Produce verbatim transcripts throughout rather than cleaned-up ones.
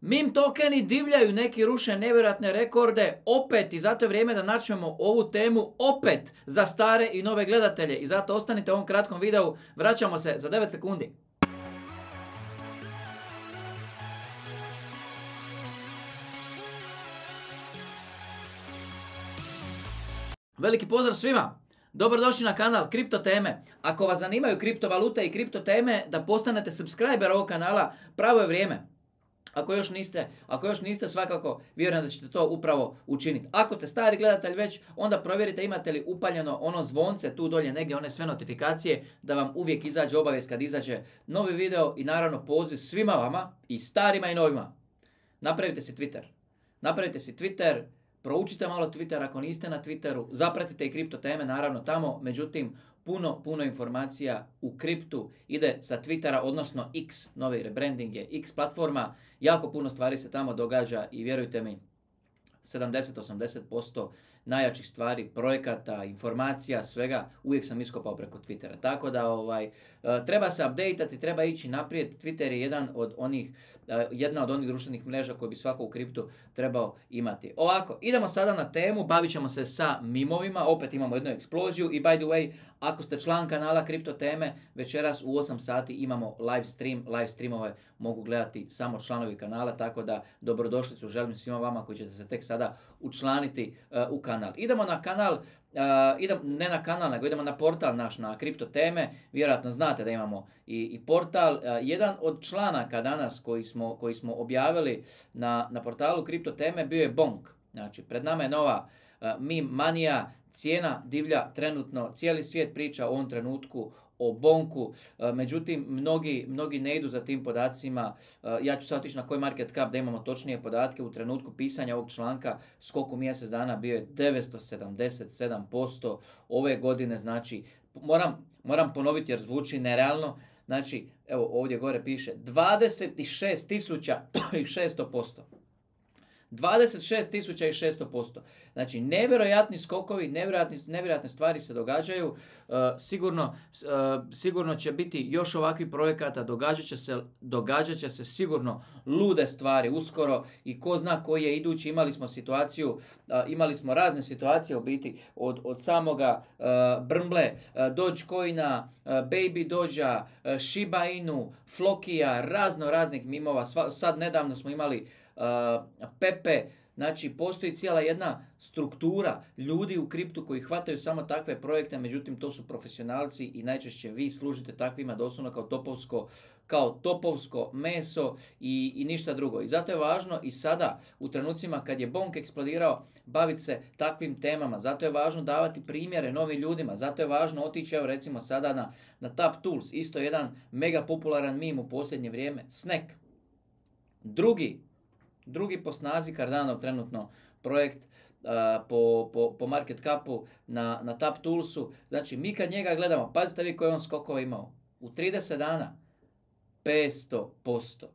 Meme tokeni divljaju, neki ruše nevjerojatne rekorde, opet, i zato je vrijeme da načnemo ovu temu opet za stare i nove gledatelje. I zato ostanite u ovom kratkom videu, vraćamo se za devet sekundi. Veliki pozdrav svima! Dobrodošli na kanal Kripto teme. Ako vas zanimaju kriptovalute i kripto teme, da postanete subscriber ovog kanala, pravo je vrijeme. Ako još niste, ako još niste, svakako vjerujem da ćete to upravo učiniti. Ako ste stari gledatelj već, onda provjerite imate li upaljeno ono zvonce tu dolje negdje, one sve notifikacije, da vam uvijek izađe obavijest kad izađe novi video i naravno poziv svima vama, i starima i novima. Napravite si Twitter. Napravite si Twitter, proučite malo Twitter ako niste na Twitteru, zapratite i kripto teme naravno tamo, međutim puno, puno informacija u kriptu ide sa Twittera, odnosno X, novi rebranding je X platforma, jako puno stvari se tamo događa i vjerujte mi, sedamdeset do osamdeset posto najjačih stvari, projekata, informacija, svega, uvijek sam iskopao preko Twittera. Tako da ovaj, treba se updateati, treba ići naprijed. Twitter je jedan od onih, jedna od onih društvenih mreža koji bi svako u kriptu trebao imati. Ovako, idemo sada na temu, bavit ćemo se sa mimovima, opet imamo jednu eksploziju i by the way, ako ste član kanala Kripto teme, večeras u osam sati imamo live stream, live streamove mogu gledati samo članovi kanala, tako da dobrodošlicu želim svima vama koji ćete se tek sada učlaniti uh, u kanal. Idemo na kanal, uh, idem, ne na kanal, nego idemo na portal naš, na Kripto teme. Vjerojatno znate da imamo i, i portal. Uh, jedan od članaka danas koji smo, koji smo objavili na, na portalu Kripto teme bio je Bonk. Znači, pred nama je nova uh, meme manija, cijena divlja trenutno, cijeli svijet priča u ovom trenutku o Bonku, međutim mnogi, mnogi ne idu za tim podacima. Ja ću sad otići na CoinMarketCap da imamo točnije podatke. U trenutku pisanja ovog članka skok u mjesec dana bio je devetsto sedamdeset sedam posto ove godine, znači moram, moram ponoviti jer zvuči nerealno. Znači, evo ovdje gore piše dvadeset šest tisuća šesto posto. dvadeset šest tisuća šesto posto. Znači, nevjerojatni skokovi, nevjerojatni, nevjerojatne stvari se događaju. Uh, sigurno, uh, sigurno će biti još ovakvih projekata, događat će se, događat će se sigurno lude stvari uskoro i ko zna koji je idući. Imali smo situaciju, uh, imali smo razne situacije u biti od, od samoga uh, Brmble, uh, Dogecoina, uh, Baby Doja, uh, Shiba Inu, Flokija, razno raznih mimova. Sva, sad nedavno smo imali Uh, Pepe, znači postoji cijela jedna struktura ljudi u kriptu koji hvataju samo takve projekte, međutim to su profesionalci i najčešće vi služite takvima doslovno kao topovsko, kao topovsko meso i, i ništa drugo. I zato je važno i sada u trenucima kad je Bonk eksplodirao baviti se takvim temama, zato je važno davati primjere novim ljudima, zato je važno otići evo recimo sada na, na Tap Tools, isto jedan mega popularan meme u posljednje vrijeme, Snack. Drugi Drugi po snazi Cardano trenutno projekt uh, po, po, po market capu na, na Tap Toolsu. Znači mi kad njega gledamo, pazite vi koji on skokova imao. U trideset dana petsto posto.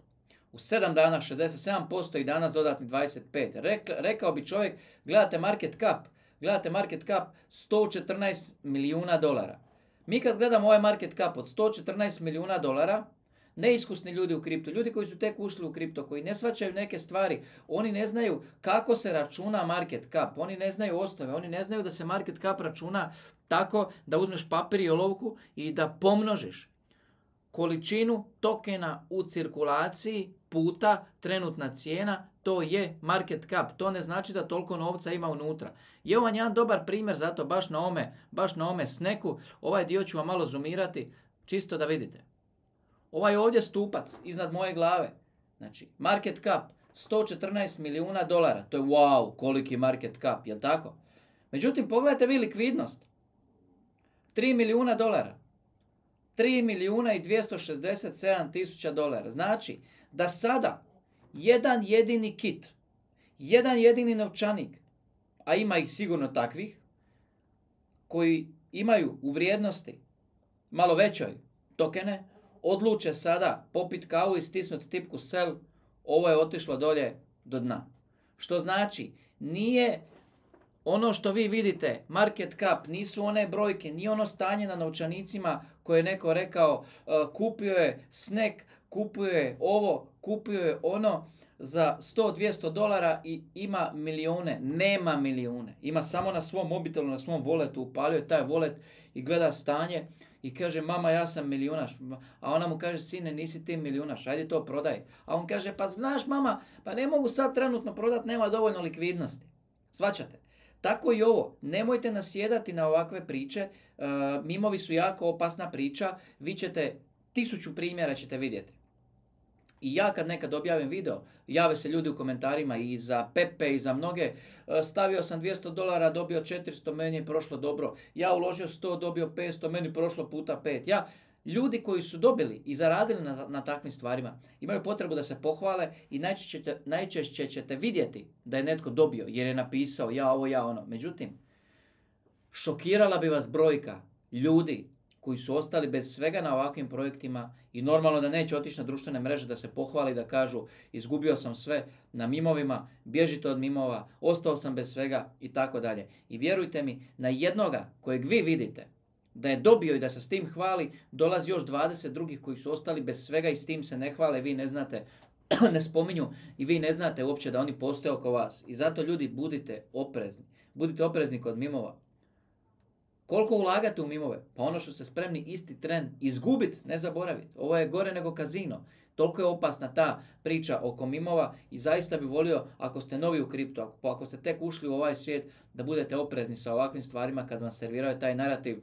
U sedam dana šezdeset sedam posto i danas dodatni dvadeset pet. Rek, rekao bi čovjek, gledate market cap, gledate market cap sto četrnaest milijuna dolara. Mi kad gledamo ovaj market cap od sto četrnaest milijuna dolara, neiskusni ljudi u kriptu, ljudi koji su tek ušli u kripto, koji ne shvaćaju neke stvari, oni ne znaju kako se računa market cap, oni ne znaju osnove, oni ne znaju da se market cap računa tako da uzmeš papir i olovku i da pomnožiš količinu tokena u cirkulaciji puta trenutna cijena, to je market cap. To ne znači da toliko novca ima unutra. I ovo je jedan dobar primjer, zato baš na ome, baš na ome Snacku, ovaj dio ću vam malo zoomirati, čisto da vidite. Ovaj ovdje stupac iznad moje glave, znači market cap sto četrnaest milijuna dolara, to je wow, koliki market cap, jel tako? Međutim, pogledajte vi likvidnost, tri milijuna dolara, tri milijuna i dvjesto šezdeset sedam tisuća dolara, znači da sada jedan jedini kit, jedan jedini novčanik, a ima ih sigurno takvih, koji imaju u vrijednosti malo većoj tokene, odluče sada popit kavu i stisnuti tipku sell, ovo je otišlo dolje do dna. Što znači, nije ono što vi vidite, market cap, nisu one brojke, nije ono stanje na novčanicima koje je neko rekao, uh, kupio je Snack, kupio je ovo, kupio je ono. za sto do dvjesto dolara i ima milijune. Nema milijune. Ima samo na svom mobitelu, na svom voletu. Upalio je taj volet i gleda stanje i kaže, mama, ja sam milijunaš. A ona mu kaže, sine, nisi ti milijunaš, ajde to prodaj. A on kaže, pa znaš, mama, pa ne mogu sad trenutno prodat, nema dovoljno likvidnosti. Shvaćate? Tako i ovo. Nemojte nasjedati na ovakve priče. Uh, mimovi su jako opasna priča. Vi ćete, tisuću primjera ćete vidjeti. I ja kad nekad objavim video, jave se ljudi u komentarima i za Pepe i za mnoge, stavio sam dvjesto dolara, dobio četiristo, meni je prošlo dobro. Ja uložio sto, dobio petsto, meni prošlo puta pet. Ja, ljudi koji su dobili i zaradili na, na takvim stvarima, imaju potrebu da se pohvale i najčešće, najčešće ćete vidjeti da je netko dobio jer je napisao ja ovo, ja ono. Međutim, šokirala bi vas brojka ljudi koji su ostali bez svega na ovakvim projektima i normalno da neće otići na društvene mreže da se pohvali, da kažu izgubio sam sve na mimovima, bježite od mimova, ostao sam bez svega i tako dalje. I vjerujte mi, na jednoga kojeg vi vidite da je dobio i da se s tim hvali, dolazi još dvadeset drugih koji su ostali bez svega i s tim se ne hvale, vi ne znate, ne spominju i vi ne znate uopće da oni postoje oko vas. I zato ljudi budite oprezni. Budite oprezni kod mimova. Koliko ulagate u mimove? Pa ono što ste spremni isti tren izgubiti, ne zaboraviti. Ovo je gore nego kazino. Toliko je opasna ta priča oko mimova i zaista bi volio, ako ste novi u kriptu, ako, ako ste tek ušli u ovaj svijet, da budete oprezni sa ovakvim stvarima kad vam serviraju taj narativ,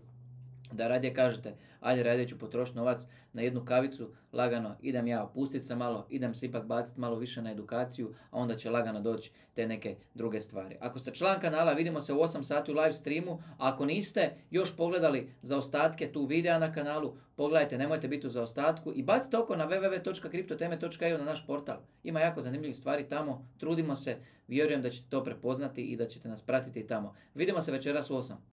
da radije kažete, ajde radije ću potrošiti novac na jednu kavicu, lagano, idem ja opustiti se malo, idem se ipak baciti malo više na edukaciju, a onda će lagano doći te neke druge stvari. Ako ste član kanala, vidimo se u osam sati u live streamu, a ako niste još pogledali zaostatke tu videa na kanalu, pogledajte, nemojte biti u zaostatku i bacite oko na w w w točka kriptoteme točka e u na naš portal. Ima jako zanimljivih stvari tamo, trudimo se, vjerujem da ćete to prepoznati i da ćete nas pratiti tamo. Vidimo se večeras u osam.